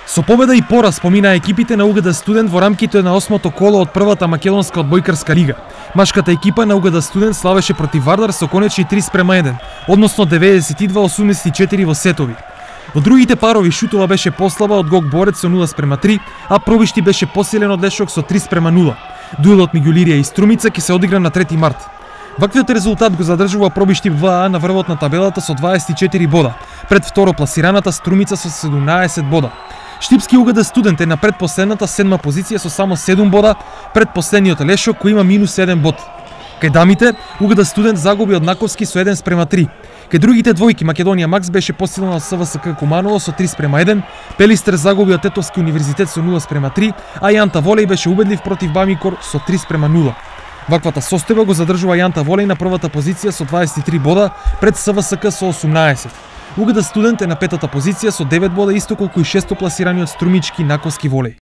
Со победа и пораз помина екипите на УГД Студент во рамките на 8-то коло од првата македонска одбојкарска лига. Машката екипа на УГД Студент славеше против Вардар со конечни 3:1, односно 92-84 во сетови. Во другите парови Шутова беше послаба од Гог Борец со 0:3, а Пробишти беше посилен од Лешок со 3:0. Дуелот меѓу Илирија и Струмица ќе се одигра на 3 март. Ваквиот резултат го задржува Пробишти в 2А на врвот на табелата со 24 бода, пред второ пласираната Струмица со 17 бода. Штипски УГД Студент е на предпоследната 7-ма позиција со само 7 бода, пред последниот Лешок кој има -1 бод. Кај дамите, УГД Студент загуби од Наковски со 1:3. Кај другите двојки Македонија Макс беше посилена од СВСК Куманово со 3:1, Пелистер загуби од Тетовски универзитет со 0:3, а Јанта Волеј беше убедлив против Бамикор со 3:0. Ваквата состојба го задржува Јанта Волеј на првата позиција со 23 бода, пред СВСК со 18. УГД Студент е на петата позиција со 9 бода, исто колку и шесто пласираниот Струмички Наковски Волеј.